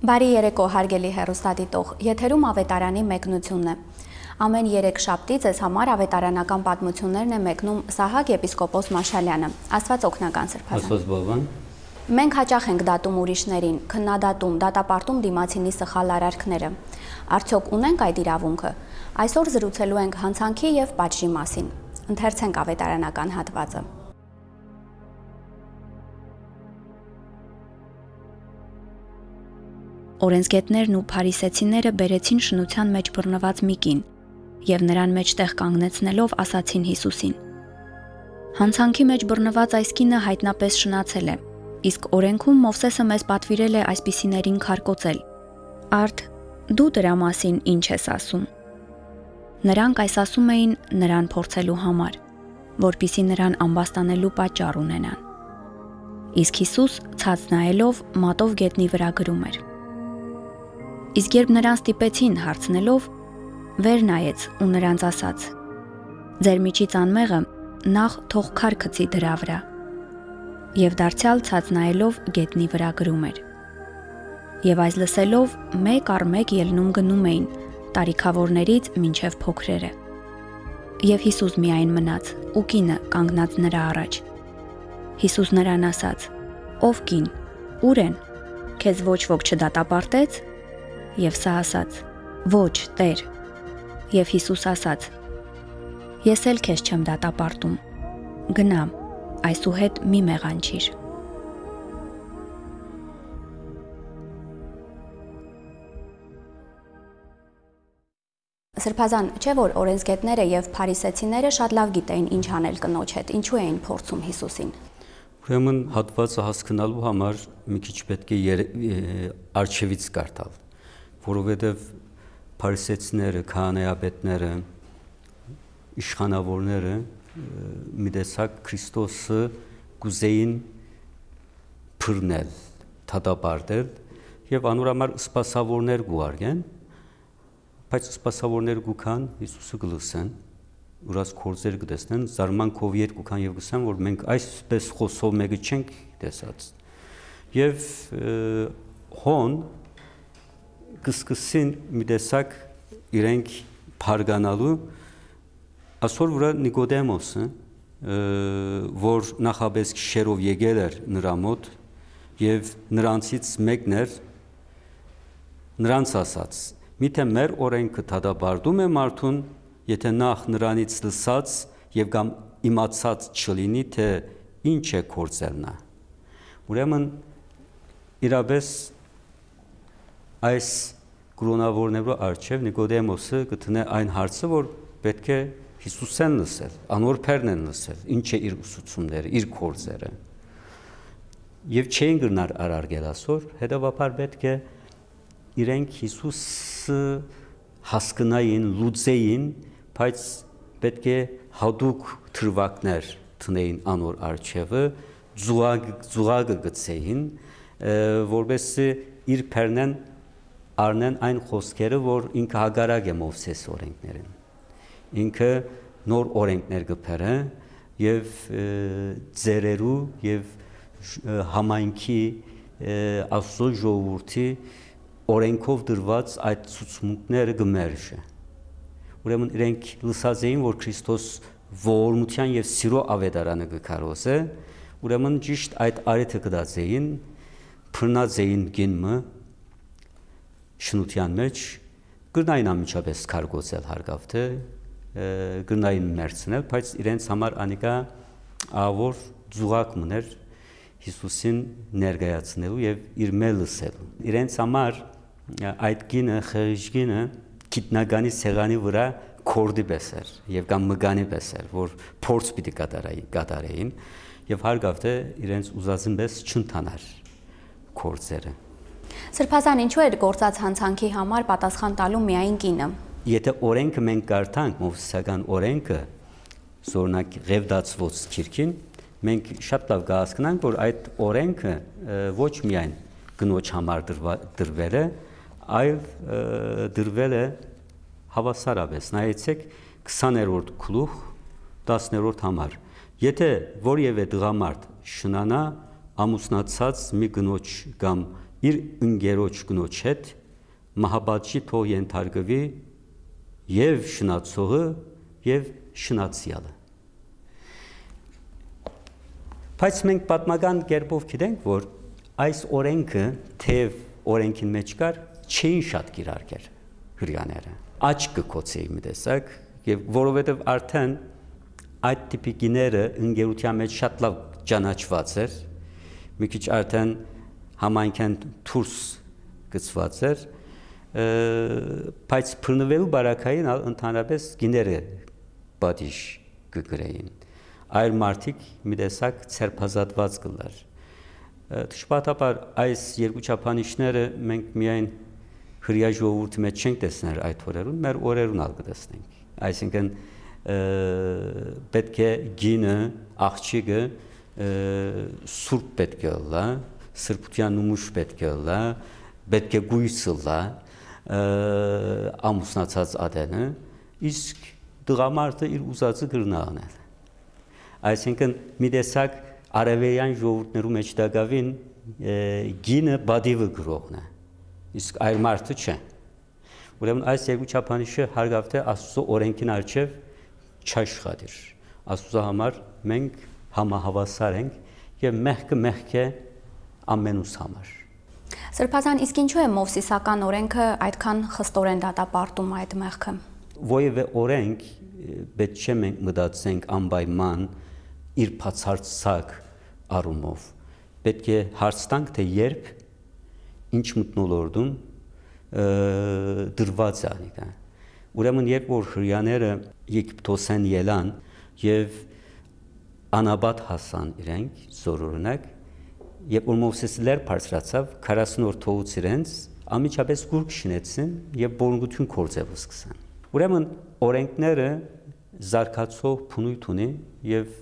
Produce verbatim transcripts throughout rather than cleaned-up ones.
Բարի երեկո, հարգելի հեռուստադիտող։ Եթերում Ավետարանի մեկնությունն է։ Ամէն երեք շաբթի ձեզ համար ավետարանական պատմութիւններն է մեկնում Սահակ եպիսկոպոս Մաշալեանը։ Աստուած օգնական, Սրբազան։ Աստուած բավան։ Մենք յաճախ ենք դատում ուրիշներին, քննադատում, դատապարտում դիմացինի սխալ արարքները։ Արդյոք ունենք այդ իրաւունքը։ Այսօր զրուցելու ենք յանցանքի եւ պատժի մասին։ Ընթերցենք ավետարանական հատուածը։ Օրենսգետներն ու փարիսեցիները բերեցին շնութեան մէջ բռնուած մի կին եւ նրան մէջտեղ կանգնեցնելով՝ ասացին Յիսուսին. «Յանցանքի մէջ բռնուած այս կինը յայտնապէս շնացել է, իսկ օրէնքում Մովսէսը մեզ պատուիրել է այսպիսիներին քարկոծել։ Արդ, դու դրա մասին ի՞նչ ես ասում»։ Նրանք այս ասում էին՝ նրան փորձելու համար, որպեսզի նրան ամբաստանելու պատճառ ունենան։ Իսկ Յիսուս, ցած նայելով, մատով գետնի վրայ գրում էր։ Իսկ երբ նրան ստիպեցին հարցնելով, վեր նայեց ու նրանց ասաց. «Ձեր միջից անմեղը նախ թող քար գցի դրա վրայ»։ Եւ դարձեալ, ցած նայելով, գետնի վրայ գրում էր։ Եւ այս լսելով, մէկ առ մէկ ելնում գնում էին, տարիքաւորներից մինչեւ փոքրերը։ Եւ Յիսուս միայն մնաց ու կինը կանգնած նրա առաջ։ Յիսուս նրան ասաց. «Ով կին, ո՞ւր են։ Քեզ ոչ ոք չդատապարտե՞ց»։ Եւ սա ասաց. «Ոչ, Տէր»։ Եւ Յիսուս ասաց. «Ես էլ քեզ չեմ դատապարտում։ Գնա, այսուհետ մի մեղանչիր»։ Սրբազան, չէ՞ որ օրենսգետները եւ փարիսեցիները շատ լաւ գիտեին ինչ անել կնոջ հետ, ինչու էին փորձում Յիսուսին։ Ուրեմն հատուածը հասկնալու համար մի քիչ պէտք է եր-, է, արջեւից կարդալ, որովհետեւ փարիսեցիները, քահանայապետները, իշխանաւորները, ը, մի տեսակ Քրիստոսը կ'ուզէին բռնել, դատապարտել եւ անոր համար սպասաւորներ կ'ուղարկեն, բայց սպասաւորները կու գան, Յիսուսը կը լսեն, ուրած գործեր կը տեսնեն, զարմանքով ետ կու գան եւ կ'ըսեն, որ մենք այսպէս խօսող մէկը չենք տեսած։ Եւ, ը, հոն կը սկսին մի տեսակ իրենք բարգանալու, ասոր վրայ Նիկոդեմոսը, ը, որ նախապէս գիշերով եկել էր նրա մօտ եւ նրանցից մեկն էր, նրանց ասաց. «Միթէ մեր օրէնքը դատապարտում է մարդուն, եթէ նախ նրանից լսած եւ կամ իմացած չլինի, թէ ինչ է գործել նա»։ Ուրեմն, իրապէս, այս կրոնաւորներու առջեւ Նիկոդեմոսը կը դնէ այն հարցը, որ պէտք է Յիսուսէն լսել, անոր բեռնէն լսել, ինչ է իր ուսուցումները, իր գործերը։ Եւ չէին կրնար արարգել ասոր, հետեւաբար պէտք է իրենք Յիսուսը հասկնային, լուծեին, բայց պէտք է յատուկ դրուագներ դնեին անոր առջեւը, ծուղակ-, ծուղակը գցեին, ը, որպեսզի իր բեռնէն առնեն այն խօսքերը, որ ինքը հակառակ է Մովսէս օրենքներուն։ Ինքը նոր օրենքներ կը բերէ եւ, ը, ծերերու եւ ժ-, ը, համայնքի, ը, Աստուծոյ ժողովուրդի օրենքով դրուած այդ ցուցմունքները կը մերժէ։ Ուրեմն իրենք լսած էին, որ Քրիստոս ողորմութեան եւ սիրո աւետարանը կը քարոզէ, ուրեմն ճիշտ այդ առիթը գտած էին, բռնած էին կին մը շնութեան մէջ, կրնային անմիջապէս քարկոծել հարկաւ թէ, ը, կրնային մեռցնել, բայց իրենց համար անիկա ահաւոր ծուղակ մըն էր Յիսուսին ներկայացնելու եւ իրմէ լսելու։ Իրենց համար, ը, այդ կինը, խեղճ կինը, գիտնականի սեղանի վրայ քորդի պէս էր եւ կամ մկանի պէս էր, որ փորձ պիտի կատարայի-, կատարեին եւ հարկաւ թէ իրենց ուզածին պէս չընթանար գործերը։ Սրբազան, ինչու էր գործած յանցանքի համար պատասխան տալու միայն կինը։ Եթէ օրենքը մենք կարդանք, մովսեսական օրենքը, օրինակ, Ղեւտացուոց գիրքին, մենք շատ լաւ կհասկնանք, որ այդ օրենքը, ը, ոչ միայն կնոջ համար դրվա-, դրվել է, այլ, ը, դրվել է հաւասարապէս։ Նայեցեք, քսաներորդ գլուխ, տասներորդ համար։ Եթէ որեւէ տղամարդ շնանայ ամուսնացած մի կնոջ կամ իր ընկերոջ կնոջ հետ մահապատժի թող ենթարկուի եւ շնացողը, եւ շնացեալը։ Բայց մենք պատմական կերպով գիտենք, որ այս օրենքը, թեև օրենքին մէջ կար, չէին շատ կիրարկեր հրեաները։ Աչք կը գոցէի մի տեսակ, եւ որովհետեւ արդեն այդ տիպի կիները ընկերութեան մէջ շատ լաւ ճանաչուած էր, մի քիչ արդեն համայնքէն դուրս գցուած էր, ը, բայց բռնուելու պարագային ալ ընդհանրապես կիները պատիժ կը կրէին։ Այր մարդիկ մի տեսակ ձերբազատուած կ'ըլլար։ Ը, դժբախտաբար այս երկու չափանիշները մենք միայն հրեայ ժողովուրդի մէջ չենք տեսներ այդ օրերուն, մեր օրերուն ալ կը տեսնենք։ Այսինքն, ը, պէտք է կինը, աղջիկը, ը, սուրբ պէտք է ըլլայ, սրբութեան նմուշ պէտք է ըլլայ, պէտք է կոյս ըլլայ, ը, ամուսնացած ատենը, իսկ տղամարդը իր ուզածը կրնայ անել։ Այսինքն, մի տեսակ արեւելեան ժողովուրդներու մէջ տակաւին, ը, կինը պատիվը գրողն է, իսկ այր մարդը չէ։ Ուրեմն այս երկու չափանիշը հարգաւ թէ Աստուծոյ օրենքին առջեւ չաշխատիր։ Աստուծոյ համար մենք համահաւասար ենք եւ մեղքը մեղք է ամենուս համար։ Սրբազան, իսկ ինչու է Մովսիսական օրենքը այդքան խստորեն դատապարտում այդ մեղքը։ Որևէ օրենք, ը, պէտք չէ մենք մտածենք անպայման իր բացարձակ առումով։ Պէտք է հարց տանք, թէ երբ, ինչ մթնոլորտում, ը, դրուած է անիկա։ Ուրեմն, երբ որ հրեաները Եգիպտոսէն ելան եւ անապատ հասան իրենք, զօր օրինակ, երբ որ Մովսէս լեռ բարձրացաւ, քառասուն օր թողուց իրենց, անմիջապէս կուրկ շինեցին եւ բորունգութիւն գործելու սկսան։ Ուրեմն, օրենքները զարգացող բնոյթ ունի եւ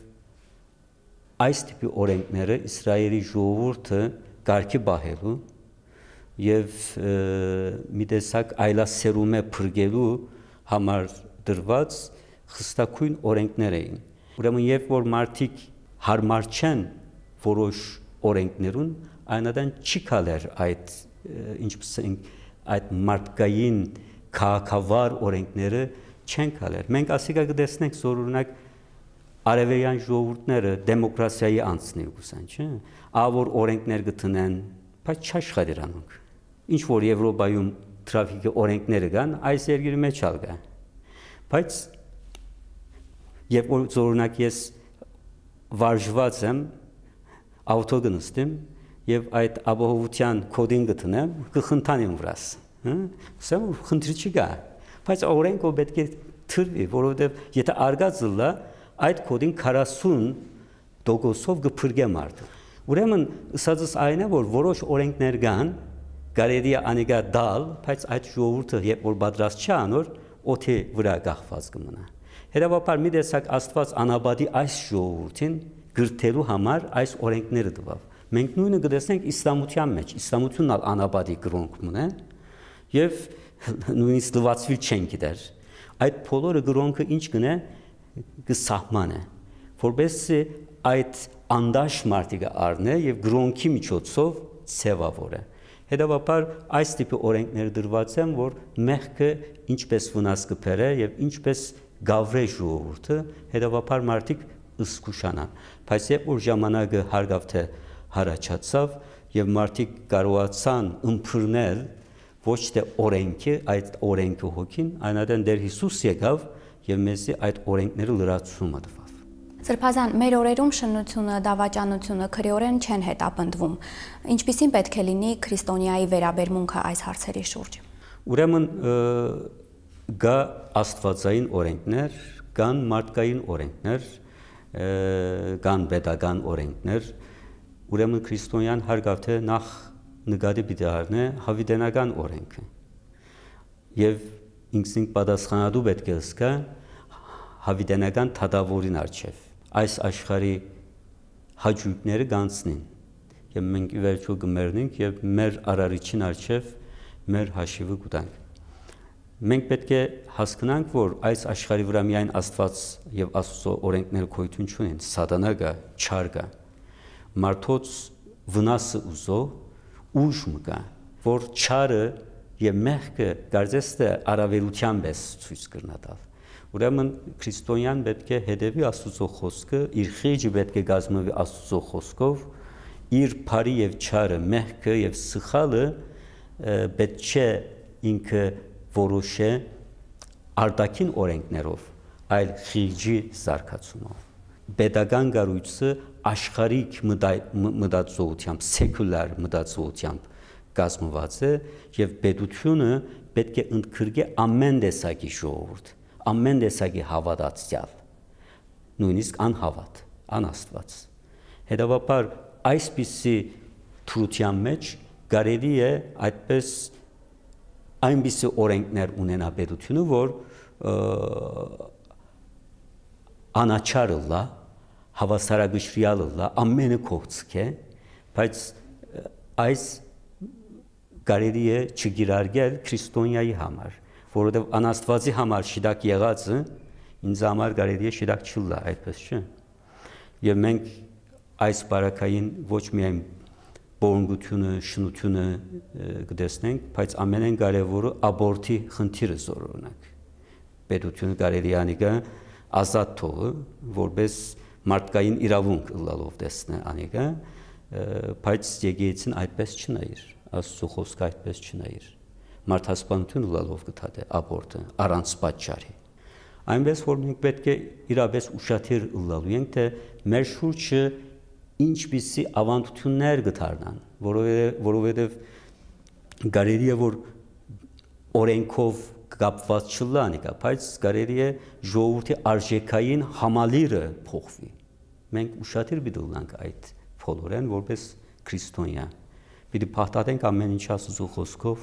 այս տիպի օրենքները Իսրայէլի ժողովուրդը կարգի պահելու եւ, ը, մի տեսակ այլասերումէ փրկելու համար դրուած խստագոյն օրենքներ էին։ Ուրեմն, երբ որ մարդիկ յարմար չեն որոշ օրենքներուն, այն ատեն չի գալեր այդ, ը, ինչպես ենք, այդ մարդկային քաղաքավար օրենքները չեն գալեր։ Մենք ասիկա կը տեսնենք, զօր օրինակ, արեւելեան ժողովուրդները դեմոկրասիայի անցնի կ'ուզեն, չէ՞։ Ա որ օրենքներ կը դնեն, բայց չաշխատիր անոնք։ Ինչ որ Եվրոպայում թրաֆիքի օրենքները կան, այս երկրի մէջ ալ կա։ Բայց երբ որ, զօր օրինակ, ես վարժուած եմ, աուտո կը նստեմ եւ այդ ապահովութեան կոդին կը դնեմ, կը խնդան իմ վրաս, հը՞։ Ասեմ, որ խնդիր չի գա, բայց օրենք որ պէտք է դրուի, որովհետեւ եթե արգած ըլլայ, այդ կոդին քառասուն տոկոսով կը փրկէ մարդը։ Ուրեմն, ըսածս այն է, որ որոշ օրենքներ կան, կարելի է անիկա տալ, բայց այդ ժողովուրդը, երբ որ պատրաստ չէ անոր, օդի վրայ կախուած կը մնայ։ Հետեւաբար, մի տեսակ Աստուած անապատի այս ժողովուրդին կրթելու համար այս օրենքները տուաւ։ Մենք նոյնը կը տեսնենք իսլամութեան մէջ, իսլամութիւնն ալ անապատի կրօնք մնայ, եւ նոյնիսկ լուացուիլ չեն գիտեր։ Այդ բոլորը կրօնքը ինչ կ'ընէ, կը սահմանէ, որպեսզի այդ անդաշ մարդիկը առնէ եւ կրօնքի միջոցով ձեւաւորէ։ Հետեւաբար, այս տիպի օրենքներ դրուած են, որ մեղքը ինչպես վնաս կը բերէ եւ ինչպես գավրէ ժողովուրդը, հետեւաբար մարդիկ զգուշանան։ Բայց երբ որ ժամանակը հարգաւ թէ յառաջացաւ եւ մարդիկ կարողացան ըմբռնել ոչ թէ օրենքը, այդ օրենքը հոգին, այն ատեն Տեր Յիսուս եկաւ եւ մեզի այդ օրենքները լրացումը տուաւ։ Սրբազան, մեր օրերում շնությունը, դավաճանությունը քրեօրեն չեն հետապնդվում։ Ինչպիսին պէտք է լինի քրիստոնեայի վերաբերմունքը այս հարցերի շուրջ։ Ուրեմն, ը, կա աստուածային օրենքներ, կան մարդկային օրենքներ, ը, կան պետական օրենքներ, ուրեմն քրիստոնեան հարգաւ թէ նախ նկատի պիտի առնէ յաւիտենական օրենքը եւ ինքզինք պատասխանատու պէտք է զգայ յաւիտենական դատաւորին առջեւ։ Այս աշխարհի հաճոյքները կ'անցնին եւ մենք ի վերջոյ կը մեռնենք եւ մեր արարիչին առջեւ մեր հաշիւը կու տանք։ Մենք պէտք է հասկնանք, որ այս աշխարհի վրայ միայն Աստուած եւ Աստուծոյ օրենքները գոյութիւն չունին, սատանայ կայ, չար կայ։ Մարդոց վնասը ուզող ուժ մը կայ, որ չարը եւ մեղքը կարծես թէ առաւելութեան պէս ցոյց կրնայ տալ։ Ուրեմն քրիստոնեան պէտք է հետեւի Աստուծոյ խօսքը, իր խիղճը պէտք է կազմուի Աստուծոյ խօսքով, իր բարի եւ չարը, մեղքը եւ սխալը, ը, պէտք չէ ինքը որոշէ արտաքին օրէնքներով, այլ խիղճի զարգացումով։ Պետական կառոյցը աշխարհիկ մտա-, մ-, մտածողութեամբ, սեկուլար մտածողութեամբ կազմուած է եւ պետութիւնը պէտք է ընդգրկէ ամէն տեսակի ժողովուրդ, ամէն տեսակի հաւատացեալ, նոյնիսկ անհաւատ, անաստուած։ Հետեւաբար այսպիսի դրութեան մէջ կարելի է այդպես այնպիսի օրէնքներ ունենայ պետութիւնը, որ, ը, անաչառ ըլլայ, հաւասարակշռեալ ըլլայ, ամէնը կողցկէ, բայց, ը, այս կարելի է չկիրարկել քրիստոնեայի համար, որովհետեւ անաստուածի համար շիտակ եղածը ինձ համար կարելի է շիտակ չըլլայ, այդպես չէ՞։ Եւ մենք այս պարագային ոչ միայն պոռնկութիւնը, շնութիւնը, ը, կը տեսնենք, բայց ամենէն կարեւորը աբորթի խնդիրը զօր օրինակ։ Պետութիւնը կարելի է անիկա ազատ թողը, որպես մարդկային իրաւունք ըլլալով տեսնէ անիկա, ը, բայց եկեղեցին այդպես չնայիր, Աստուծոյ խօսքը այդպես չնայիր։ Մարդասպանութիւն ըլլալով կը դատէ աբորթը առանց պատճառի։ Այնպես որ մենք պէտք է իրապէս ուշադիր ըլլալու ենք, թէ մեր շուրջը ինչպիսի աւանդութիւններ կը դառնան, որովհետեւ, որովհետեւ կարելի է որ օրէնքով կապուած չըլլայ անիկա, բայց կարելի է ժողովուրդի արժէքային համալիրը փոխուի։ Մենք ուշադիր պիտի ըլլանք այդ բոլորէն, որպես քրիստոնեայ։ Պիտի փաթաթենք ամէն ինչ Աստուծոյ խօսքով,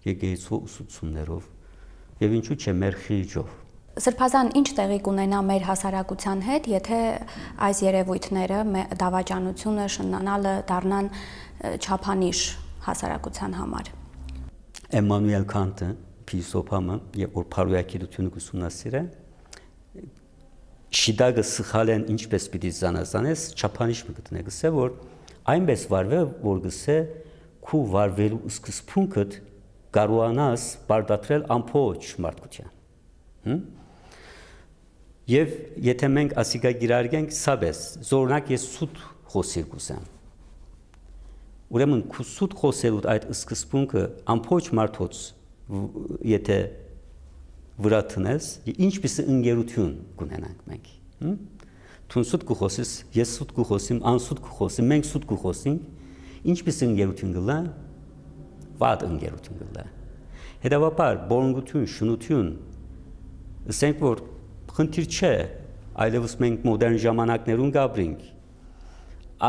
եկեղեցու ուսուցումներով եւ ինչու՞ չէ, մեր խիղճով։ Սրբազան, ի՞նչ տեղի կունենայ մեր հասարակութեան հետ, եթե այս երեւոյթները, մե-, դավաճանութիւնը, շնանալը դառնան, ը, չափանիշ հասարակութեան համար։ Էմմանուէլ Քանտը, փիլիսոփա մը, եւ որ բարոյագիտութիւնը կ'ուսումնասիրէ, շիտակը սխալէն ինչպէս պիտի զանազանես, չափանիշ մը գտնէ, կ'ըսէ, որ այնպէս վարուէ, որ կ'ըսէ, քու վարուելու սկզբունքդ կարողանաս պարտադրել ամբողջ մարդկութեան։ Հմ? Եւ եթե մենք ասիկա կիրարկենք, սա պէս, զօրինակ ես սուտ խօսիլ կ'ուզեմ։ Ուրեմն քու սուտ խօսելուդ այդ սկզբունքը ամբողջ մարդոց վ-, եթե վրայ դնես, ինչպիսի ընկերութիւն կունենանք մենք, հմ? Դուն սուտ կու խօսես, ես սուտ կու խօսիմ, անսուտ կու խօսի, մենք սուտ կու խօսինք, ինչպիսի ընկերութիւն կ'ըլլայ, վատ ընկերութիւն կ'ըլլայ։ Հետեւաբար, պոռնկութիւն, շնութիւն, ըսենք որ խնդիր չէ, այլեւս մենք մոդեռն ժամանակներուն կ'ապրինք,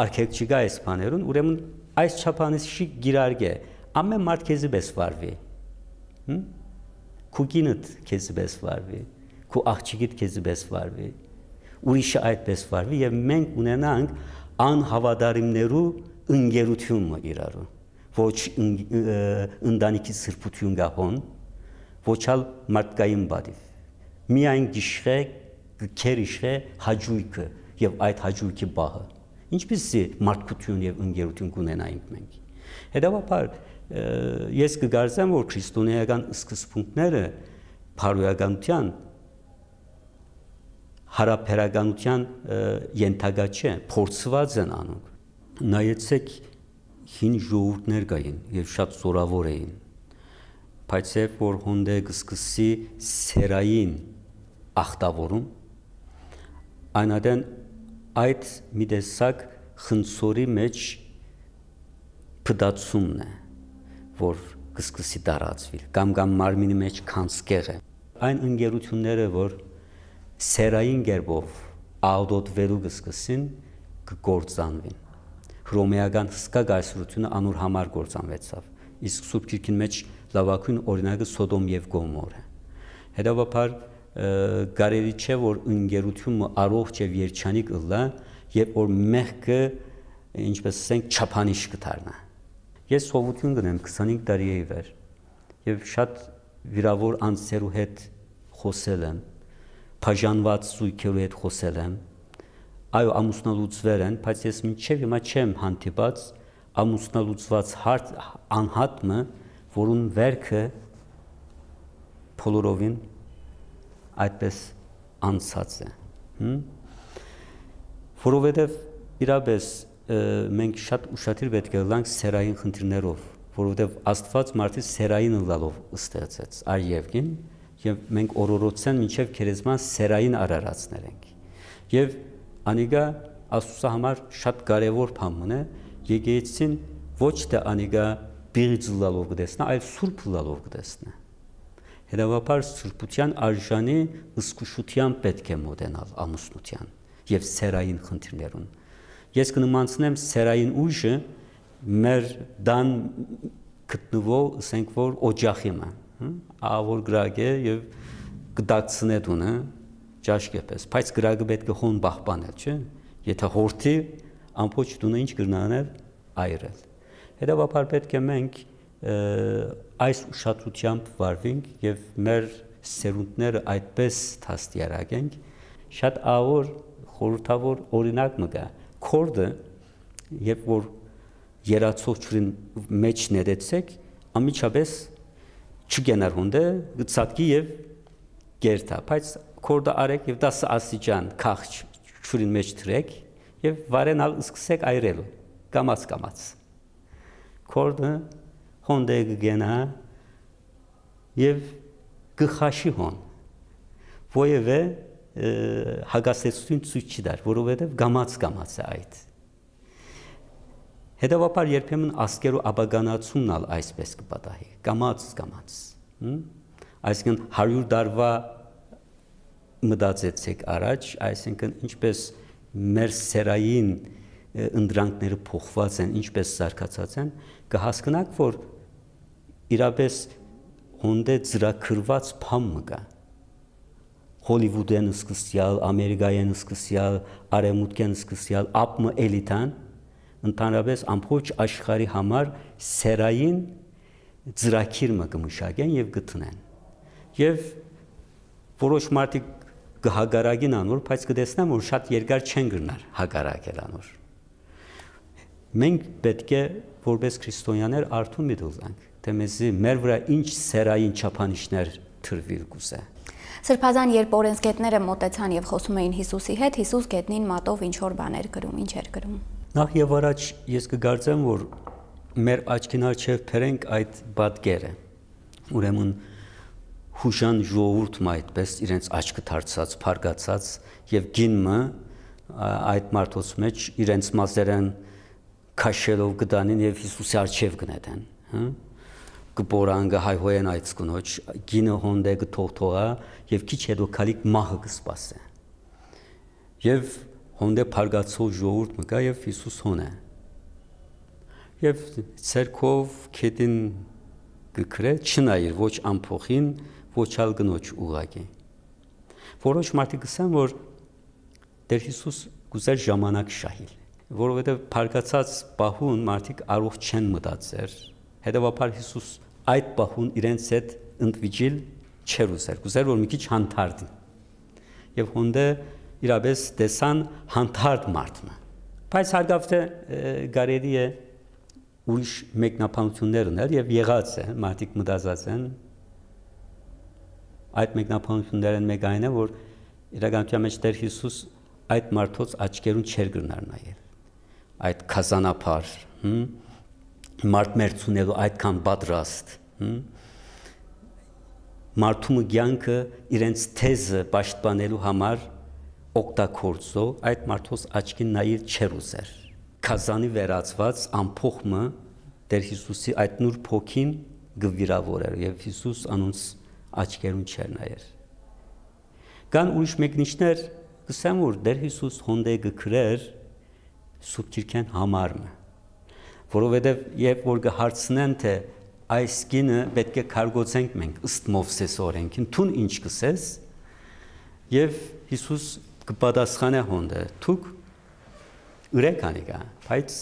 արգելք չկայ այս բաներուն, ուրեմն այս չափանիշի կիրարկէ, ամէն մարդ քեզի պէս վարուի, հմ? Քու կինդ քեզի պէս վարուի, քու աղջիկիդ քեզի պէս վարուի, ուրիշը այդպես վարուի եւ մենք ունենանք անհաւատարիմներու ընկերութիւն մը իրարու, ոչ ն-, ը, ընտանիքի սրբութիւն գահոն, ոչ ալ մարդկային պատիւ։ Միայն գիշխէ, կը գերիշխէ հաճոյքը եւ այդ հաճոյքի պահը։ Ինչպիսի մարդկութիւն եւ ընկերութիւն կունենայինք մենք։ Հետեւաբար, ը, ես կը կարծեմ, որ քրիստոնեական սկզբունքները բարոյականութեան, յարաբերականութեան, ը, ենթակայ չէ, փորձուած են անոնք։ Նայեցեք, հին ժողովուրդներ կային եւ շատ զօրաւոր էին, բայց երբ որ հոն դէ կը սկսի սերային ախտաւորում, այն ատեն այդ մի տեսակ խնձորի մէջ փտացումն է, որ կը սկսի տարածուիլ, կամ, կամ մարմինի մէջ գանձկեղ է։ Այն ընկերութիւնները, որ սերային կերպով աղտոտուելու կը սկսին, կը կործանուին։ Հռոմէական հսկայ կայսրութիւնը անոր համար կործանուեցաւ, իսկ Սուրբ Գիրքին մէջ լաւագոյն օրինակը Սոդոմ եւ Գոմոր է։ Հետեւաբար, ը, կարելի չէ, որ ընկերութիւն մը առողջ եւ երջանիկ ըլլայ, երբ որ մեղքը, ինչպես ասենք, չափանիշ կը դառնայ։ Ես սովութիւն կ'ունեմ քսանհինգ տարի է ի վեր, եւ շատ վիրաւոր անձերու հետ խօսել եմ, բաժանուած զոյգերու հետ խօսել եմ։ Այո, ամուսնալուծուեր են, բայց ես մինչեւ հիմա չեմ հանդիպած ամուսնալուծուած հարթ անհատ մը, որուն վերքը բոլորովին այդպես անցած է։ Հմ? Որովհետև իրապես, ը, մենք շատ ուշադիր պէտք է ըլլանք սեռային խնդիրներով, որովհետև Աստուած մարդը սեռային ըլլալով ստեղծեց, այ եւ կին, եւ մենք օրորոցեն մինչեւ գերեզման սեռային արարածներ ենք։ Եւ անիկա Աստուծոյ համար շատ կարեւոր բան մըն է, եկեղեցին ոչ թէ անիկա պիղծ ըլլալով կը տեսնայ, այլ սուրբ ըլլալով կը տեսնայ։ Հետեւաբար սրբութեան արժանի զգուշութեամբ պէտք է մօտենալ ամուսնութեան եւ սեռային խնդիրներուն։ Ես կը նմանցնեմ սեռային ուժը մեր տան գտնուող, ըսենք որ օջախի մը, հը? Ահա որ կրակ է եւ կը դակցնէ տունը ճաշկեպես, բայց կրակը պէտք է հոն պահպանել, չէ՞։ Եթե հորթի, ամբողջ տունը ինչ կրնա անել, այրել։ Հետեւաբար պէտք է մենք, ը, այս ուշադրութեամբ վարվենք եւ մեր սերունդները այդպես դաստիարակենք։ Շատ ահա որ խորհրդավոր օրինակ մը կայ։ Քորդը, երբ որ երացող ջուրին մէջ նետեցեք, անմիջապես չկենար հոն դէ, կը ցատկի եւ կերթայ, բայց քորդը արեք եւ տասը աստիճան քաղց ջուրին մէջ դրեք եւ վարեն ալ սկսեք այրել, կամաց-կամաց։ Քորդը հոն դէ կը կենայ եւ կը խաշի հոն։ Ոեւէ, ը, հակասեցուցիչ ցոյց չի տար, որովհետեւ կամաց-կամաց է այդ։ Հետեւաբար երբեմն ազգերու ապականացումն ալ այսպես կը պատահի, կամաց-կամաց, հմ? Այսինքն հարիւր տարուա մտածեցեք առաջ, այսինքն ինչպես մեր սեռային, ը, ընտրանքները փոխուած են, ինչպես զարգացած են, կը հասկնաք, որ իրապես հոն դէ ծրագրուած բան մը կայ։ Հոլիվուդէն սկսեալ, Ամերիկայէն սկսեալ, Արեւմուտքէն սկսեալ, ափ մը էլիտան, ընդհանրապես ամբողջ աշխարհի համար սեռային ծրագիր մը կը մշակեն եւ կը դնեն։ Եւ որոշ մարդիկ կը հակառակին անոր, բայց կը տեսնեմ, որ շատ երկար չեն կրնար հակառակել անոր։ Մենք պէտք է, որպես քրիստոնեաներ, արթուն մտուլանք, թէ մեզի մեր վրայ ինչ սեռային չափանիշներ դրուիլ կուզէ։ Սրբազան, երբ օրենսգետները մօտեցան եւ խոսում էին Յիսուսի հետ, Յիսուս գետնին մատով ինչ որ բաներ կրում, ինչ էր կրում։ Նախ եւ առաջ ես կկարծեմ, որ մեր աչքին առջեւ բերենք այդ պատկերը։ Ուրեմն յուժան ժողովուրդ մը այդպես իրենց աչքը դարձած, փառկացած, եւ կին մը, ա, այդ մարդոց մէջ իրենց մազերեն քաշելով կը տանին եւ Յիսուսի առջեւ կը նետեն, հը? Կը պորան, կը հայհոյեն այդ կնոջ, կինը հոն դէ կը թողթողայ եւ քիչ հետո քալիք մահը կը սպասէ։ Եւ հոն դէ փառկացող ժողովուրդ մը կայ եւ Յիսուս հոն է։ Եւ ձեռքով գետին կը քրէ, չնայիր ոչ ամբոխին, ոչ ալ կնոջ ուղակի։ Որոշ մարդիկ կ'ըսեն, որ Տէր Յիսուս կ'ուզէր ժամանակ շահիլ, որովհետեւ փառկացած պահուն մարդիկ առողջ չեն մտածեր, հետեւաբար Յիսուս այդ պահուն իրենց հետ ընդվիճիլ չէր ուզեր, կ'ուզեր, որ մի քիչ հանդարտին։ Եւ հոն դէ իրապես տեսան հանդարտ մարդ մը։ Բայց հարկաւ թէ, ը, կարելի է ուրիշ մեկնաբանութիւններ ընել եւ եղած է, մարդիկ մտածած են։ Այդ մեկնաբանութիւններէն մէկը այն է, որ իրականութեան մէջ Տէր Յիսուս այդ մարդոց աչքերուն չէր կրնար նայել։ Այդ գազանաբար, հմ, մարդ մեռցունելու այդքան պատրաստ, հմ, մարդու մը կեանքը իրենց թեզը պաշտպանելու համար օգտագործող այդ մարդոց աչքին նայել չէր ուզեր։ Գազանի վերածված ամբոխ մը Տէր Յիսուսի այդ նուրբ հոգին կը վիրավորեր եւ Յիսուս անոնց աչքերուն չէր նայեր։ Կան ուրիշ մեկնիչներ, կ'ըսեմ, որ Տէր Յիսուս հոն դէ կը քրէր Սուրբ Գիրքէն համար մը, որովհետեւ երբ որ կը հարցնեն, թէ այս կինը պէտք է կարգոծենք մենք ըստ Մովսէս օրենքին, դուն ինչ կ'ըսես, եւ Յիսուս կը պատասխանէ հոն դէ, դուք ըրեք անիկա, բայց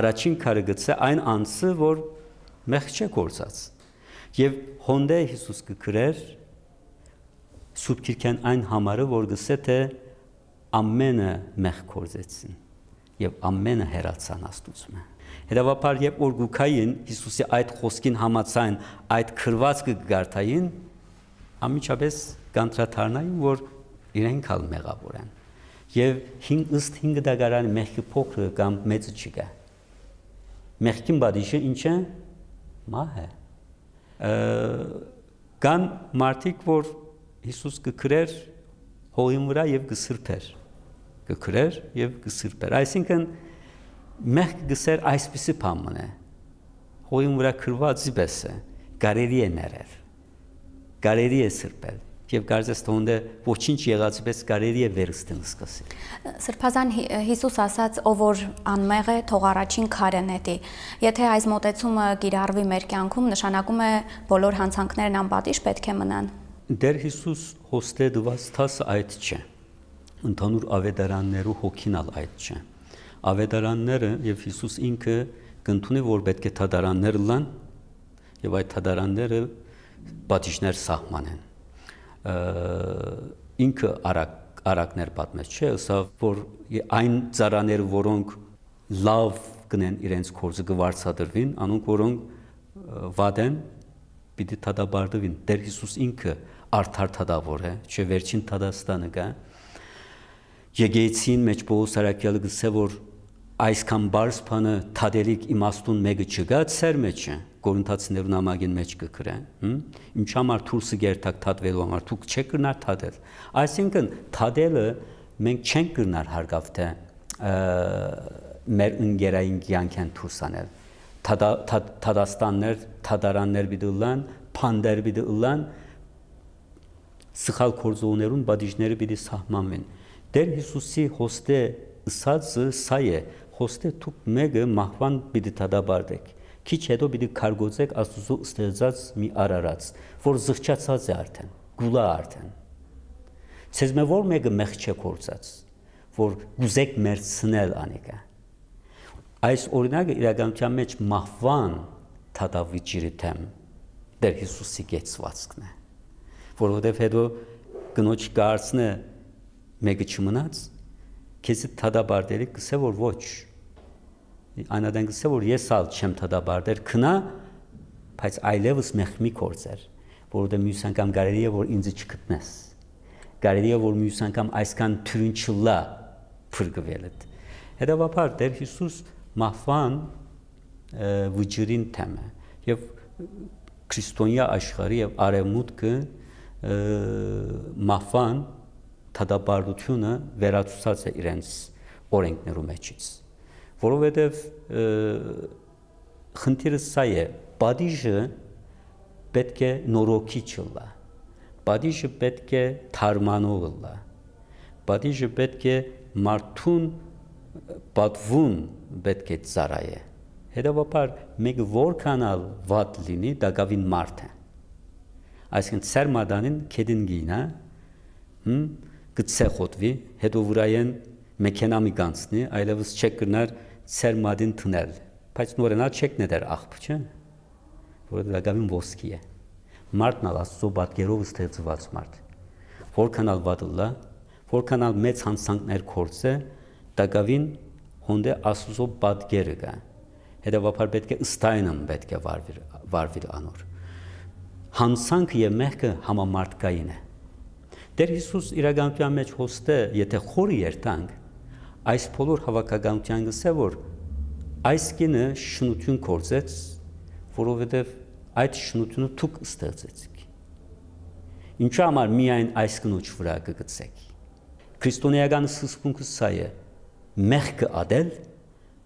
առաջին քարը գցէ այն անձը, որ մեղք չէ գործած։ Եւ հոն դէ Յիսուս կը քրէր Սուրբ Գիրքէն այն համարը, որ կ'ըսէ, թէ ամենը մեղք գործեցին եւ ամենը հեռացան Աստուծմէ։ Հետեւաբար, երբ որ կու գային Յիսուսի այդ խօսքին համաձայն այդ գրուածքը կը կարդային, անմիջապէս կ'անդրադառնային, որ իրենք ալ մեղաւոր են։ Եւ հին, ըստ հին կտակարանի մեղքի փոքրը կամ մեծը չկայ։ Մեղքին պատիժը ի՞նչ է։ Մահ է։ Ը, կան մարդիկ, որ Յիսուս կը գրէր հողին վրայ եւ կը սրբէր։ Կը գրէր եւ կը սրբէր։ Այսինքն, մեղքը կ'ըսէր այսպիսի բան մըն է։ Հողին վրայ գրուածի պէս է, կարելի է ներել, կարելի է սրբել, եւ կարծես թէ հոն դե ոչինչ եղածի պէս կարելի է վերստին սկսել։ Սրբազան Հի-, Յիսուս ասաց. «Ով որ անմեղ է, թող առաջին քարը նետի»։ Եթե այս մոտեցումը կիրառվի մեր կյանքում, նշանակում է՝ բոլոր յանցանքներն անպատիժ պէտք է մնան։ Տէր Յիսուս հոստե տուած դասը այդ չէ։ Ընդհանուր աւետարաններու հոգին ալ այդ չէ։ Աւետարանները եւ Յիսուս ինքը կ'ընդունի, որ պէտք է դատարաններ ըլլան, եւ այդ դատարանները պատիժներ սահմանեն։ Ը, ինքը արագ-, արագներ պատմեց, չէ՞, ըսաւ, որ այն ծառաները, որոնք լաւ կ'ընեն իրենց գործը, կը վարձատրուին, անոնք, որոնք, ը, վատ են, պիտի դատապարտուին։ Տէր Յիսուս ինքը արդար դատաւոր է, չէ՞, վերջին դատաստանը կայ։ Եկեղեցին մէջ Պողոս առաքեալը կ'ըսէ, որ այսքան պարզ բանը դատելիք իմաստուն մէկը չկայ սեր մէջը, Կորինթացիներուն նամակին մէջ կը գրէ, հմ? Ինչ համար դուրսը կերթաք դատուելու համար, դուք չէք կրնար դատել։ Այսինքն, դատելը մենք չենք կրնար հարկաւ թէ, ը, մեր ընկերային կեանքէն դուրս անել։ Դատա-, դատ-, դատաստաններ, դատարաններ պիտի ըլլան, բանտեր պիտի ըլլան, սխալ գործողներուն պատիժները պիտի սահմանվին։ Տէր Յիսուսի հոստե ըսածը սա է. «Հոստե դուք մէկը մահուան պիտի դատապարտէք, քիչ յետոյ պիտի քարկոծէք Աստուծոյ ստեղծած մի արարած, որ զղջացած է արդէն, կուլայ արդէն։ Ձեզմէ ո՞ր մէկը մեղք չէ գործած, որ կ'ուզէք մեռցնել անիկա»։ Այս օրինակը իրականութեան մէջ մահուան դատավիճիրի դէմ Տէր Յիսուսի կեցուածքն է, որովհետեւ յետոյ կնոջ կարծնէ մէկը չմնաց, քեզի դատապարտելիք կ'ըսէ, որ ոչ։ Այն ատեն կ'ըսէ, որ ես ալ չեմ դատապարտեր, գնա, բայց այլեւս մեղք մի գործեր, որովհետեւ միւս անգամ կարելի է, որ ինձ չգտնես։ Կարելի է, որ միւս անգամ այսքան թիւրին չլա փրկուելդ։ Հետեւաբար, Տէր Յիսուս մահուան, ը, վճիռին դէմ է, եւ քրիստոնեայ աշխարհը եւ արեւմուտքը, ը, մահուան դատապարտութիւնը վերացուցած է իրենց օրենքներու մէջից, որովհետեւ, ը, խնդիրը սա է. պատիժը պէտք է նորոգիչ ըլլայ, պատիժը պէտք է դարմանող ըլլայ, պատիժը պէտք է մարդուն պատուուն պէտք է ծառայէ։ Հետեւաբար, մէկը որքան ալ վատ լինի, տակաւին մարդ է։ Այսինքն, ծեր մատանին գետին կ'ինայ, հմ, կը ցեխոտուի, յետոյ վրայէն մեքենա մի կանցնի, այլեւս չէք կրնար ծեր մատին դնել, բայց նորենալ չէք նետեր աղբը, չէ՞, որ տակաւին ոսկի է։ Մարդն ալ Աստուծոյ պատկերով ստեղծուած մարդ։ Որքան ալ վատ ըլլայ, որքան ալ մեծ յանցանքներ գործէ, տակաւին հոն դէ Աստուծոյ պատկերը կայ։ Հետեւաբար պէտք է ըստ այնմ պէտք է վարվիր, վարվիլ անոր։ Յանցանքը եւ մեղքը համամարդկային է։ Տէր Յիսուս իրականութեան մէջ հոստե, եթե խորը երթանք, այս բոլոր հաւաքականութեան կ'ըսէ, որ այս կինը շնութիւն գործեց, որովհետեւ այդ շնութիւնը դուք ստեղծեցիք։ Ինչու համար միայն այս կնոջ վրայ կը գցեք։ Քրիստոնեական սկզբունքը սա է. մեղքը ատել,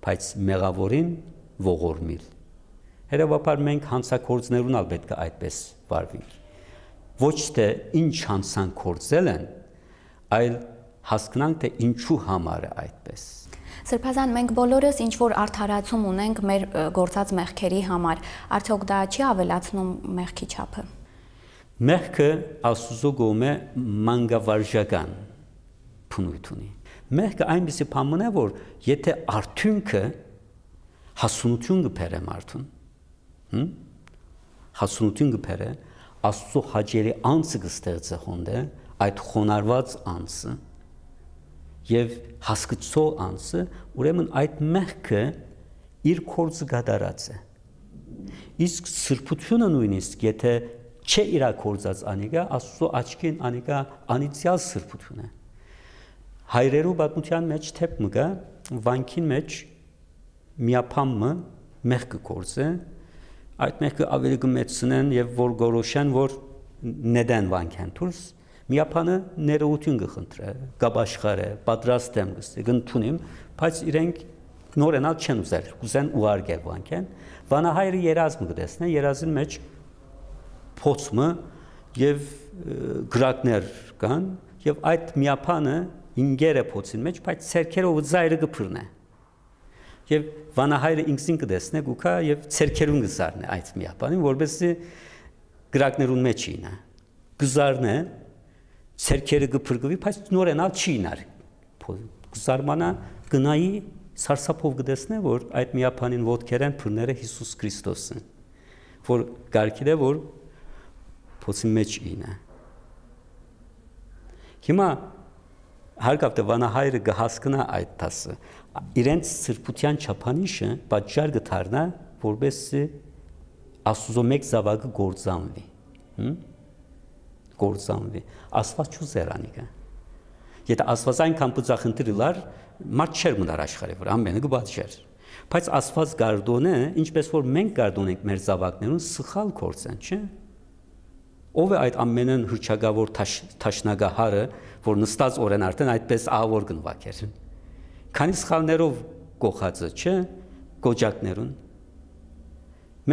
բայց մեղաւորին ողորմիլ։ Հետեւաբար, մենք յանցագործներուն ալ պէտք է այդպես վարվենք։ Ոչ թէ ինչ յանցանք գործել են, այլ հասկնանք, թէ ինչու համար է այդպես։ Սրբազան, մենք բոլորս ինչ որ արդարացում ունենք մեր, ը, գործած մեղքերի համար, արդյոք դա չի ավելացնում մեղքի չափը։ Մեղքը Աստուծոյ կողմէ մանկավարժական բնույթ ունի։ Մեղքը այնպիսի բան մնա, որ եթե արդիւնքը հասունութիւն կը բերէ մարդուն, հմ? Հասունութիւն կը բերէ, Աստուծոյ հաճելի անձը կը ստեղծէ հոն դէ, այդ խոնարհուած անձը եւ հասկցող անձը, ուրեմն այդ մեղքը իր գործը կատարած է։ Իսկ սրբութիւնը նոյնիսկ, եթէ չէ իրա գործած անիկա, Աստուծոյ աչքին անիկա անիծեալ սրբութիւն է։ Հայրերու պատմութեան մէջ դէպ մը կայ, վանքին մէջ միաբան մը մեղքը գործէ, այդ մեղքը աւելի կը մեծցնեն եւ որ գորոշեն, որ նետեն վանքէն դուրս, միաբանը ներողութիւն կը խնդրէ, կ'ապաշխարէ, պատրաստ եմ կ'ըսէ, կ'ընդունիմ, բայց իրենք նորենալ չեն ուզեր, կ'ուզեն ուղարկել վանքէն։ Վանահայրը երազ մը կը տեսնէ, երազին մէջ փոց մը եւ, ը, կրակներ կան, եւ այդ միաբանը ինկեր է փոցին մէջ, բայց ձեռքերով ծայրը կը բռնէ։ Եւ վանահայրը ինքզին կը տեսնէ, կու գայ եւ ձեռքերուն կը զարնէ այդ միաբանին, որպեսզի կրակներուն մէջ իյնայ։ Կը զարնէ, ձեռքերը կը փրկուի, բայց նորենալ չի իյնար։ Փո-, կը զարմանայ, կը նայի, սարսափով կը տեսնէ, որ այդ միաբանին ոտքերէն բռներ է Յիսուս Քրիստոսը, որ կարգին է, որ փոցին մէջ իյնայ։ Հիմա հարկաւ թէ վանահայրը կը հասկնայ այդ դասը, իրենց սրբութեան չափանիշը պատճառ կը դառնայ, որպեսզի Աստուծոյ մէկ զաւակը կործանուի։ Հմ? Կործանուի։ Աստուած չուզեր անիկա։ Եթէ Աստուած այնքան բծախնդիր ըլար, մարդ չէր մնար աշխարհի վրայ, ամէնքը կը պատժեր։ Բայց Աստուած կ'արդոնէ, ինչպէս որ մենք կ'արդոնենք մեր զաւակներուն, սխալ գործ են, չէ՞։ Ո՞վ է այդ ամենէն հռչակաւոր դաշ-, դաշնակահարը, որ նստած օրէն արդէն այդպէս ահաւոր կը նուագէր։ Քանի սխալներով կոխած է, չէ՞, կոճակներուն։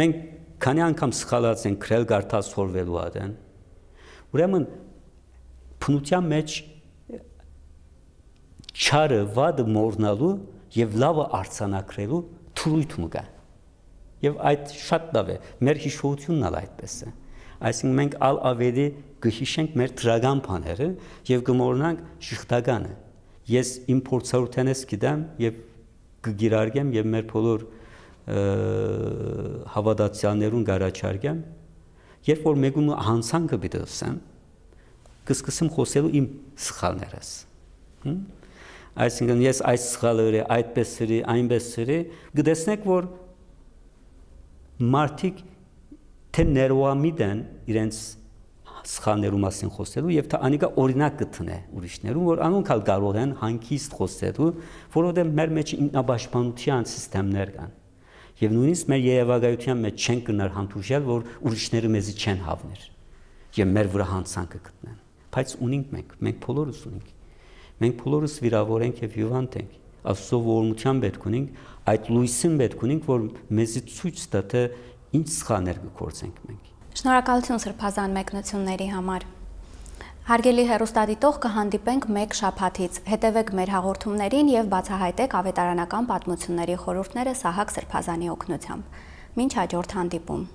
Մենք քանի՞ անգամ սխալած ենք գրել, կարդալ, սորվելու ատեն։ Ուրեմն, բնութեան մէջ չարը, վատը մոռնալու եւ լաւը արձանագրելու թրոյթ մը կայ։ Եւ այդ շատ լաւ է, մեր յիշողութիւնն ալ այդպէս է։ Այսինքն մենք ալ աւելի կը յիշենք մեր դրական բաները եւ կը մոռնանք ժխտականը։ Ես իմ փորձառութենէս գիտեմ եւ կը կիրարկեմ եւ մեր բոլոր, ը, հաւատացեալներուն կ'առաջարկեմ, երբ որ մէկուն մը յանցանքը պիտի ըսեմ, կը սկսեմ խօսելու իմ սխալներս։ Հմ? Այսինքն ես այս սխալը ըրի, այդպես ըրի, այնպես ըրի, կը տեսնեք, որ մարդիկ թէ ներուամիտ են իրենց սխալներու մասին խօսելու եւ թէ անիկա օրինակ կը դնէ ուրիշներուն, որ անոնք ալ կարող են հանգիստ խօսելու, որովհետեւ մեր մէջ ինքնապաշտպանութեան սիստեմներ կան։ Եւ նոյնիսկ մեր երեւակայութեան մէջ չենք կրնար հանդուրժել, որ ուրիշները մեզի չեն հաւներ եւ մեր վրայ յանցանքը գտնեն։ Բայց ունինք մենք, մենք բոլորս ունինք։ Մենք բոլորս վիրաւոր ենք եւ հիւանդ ենք։ Աստուծոյ ողորմութեան պէտք ունինք, այդ լոյսին պէտք ունինք, որ մեզի ցոյց տայ, թէ ինչ սխալներ կը գործենք մենք։ Շնորհակալութիւն սրբազան մեկնութիւնների համար։ Հարգելի հեռուստադիտող, կը հանդիպենք մէկ շաբաթից։ Հետեւէք մեր հաղորդումներին եւ բացահայտեք ավետարանական պատմութիւնների խորհուրդները Սահակ սրբազանի օգնությամբ։ Մինչ յաջորդ հանդիպում։